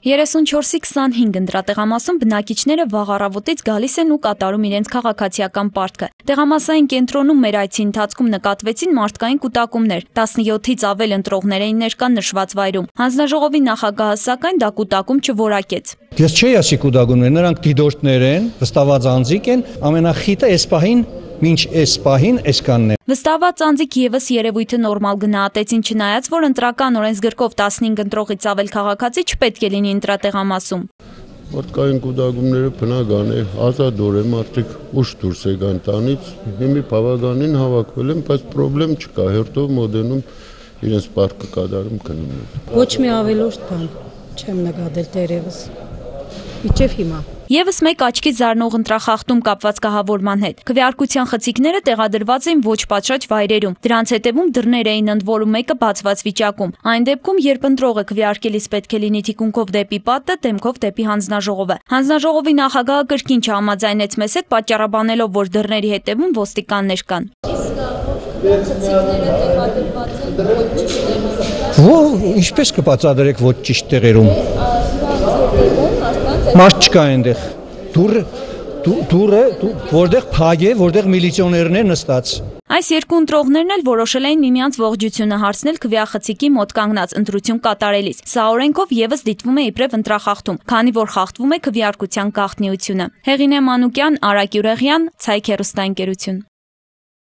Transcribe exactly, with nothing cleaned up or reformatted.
երեսունչորսի քսանհինգ ընտրատեղամասում բնակիչները վաղ առավոտից գալիս են ու կատարում իրենց քաղաքացիական պարտքը։ Տեղամասային կենտրոնում մեր այցի ընթացքում նկատվեցին մարդկային կուտակումներ, տասնյոթից ավել ընտրողներ էին ներկա նշված վայրում։ Հանձնաժողովի նախագահը սակայն դա կուտակում չորակեց։ Ես չէի ասի կուտակումներ, նրանք դիտորդներ են, վստահված անձիկ են, ամենախիտը այս պահին մինչ այս պահին այսքանն է։ Վստահված անձիկ եւս երևույթը նորմալ գնահատեցին, չնայած որ ընտրական օրենսգրքով տասնհինգ ընտրողից ավել քաղաքացի չպետք է լինի ընտրատեղամասում։ Մարդկային կուտակումները բնական է, ազատորեն մարդիկ ուշ դուրս եկան տանից, հիմի բավականին հավաքվել են, բայց խնդրեմ չկա, հերթով մոդենում իրենց պարտքը կատարում գնում են։ Ոչ մի ավելորդ բան չեմ նկատել դերևս։ Իջև հիմա։ Եվս մեկ աչքի զարնող ընտրախախտում կապված կահավորման հետ։ Քվեարկության խցիկները տեղադրված էին ոչ պատշաճ վայրերում։ Դրանց հետևում դռներ էին ընդ որում մեկը բացված վիճակում։ Այն դեպքում, երբ ընտրողը քվեարկելիս պետք է լինի թիկունքով դեպի պատը, դեմքով դեպի հանձնաժողովը։ Հանձնաժողովի նախագահը կրկին չհամաձայնեց մեզ հետ, պատճառաբանելով, որ դռների հետևում ոստիկաններ կան։ Ինչպես կբացատրեք ոչ ճիշտ տեղերում։ Մարդ չկա այնտեղ, դուրը, դուրը, որտեղ փակ է, որտեղ միլիցիոներն են նստած։ Այս երկու ընտրողներն էլ որոշել էին միմյանց ողջությունը հարցնել քվեախցիկի մոտ կանգնած ընտրություն կատարելիս։ Սա օրենքով եւս դիտվում է իբրև ընտրախախտում, քանի որ խախտվում է քվեարկության գաղտնիությունը։ Հեղինե Մանուկյան, Արա Գյուրեղյան, Ցայք հեռուստաընկերություն։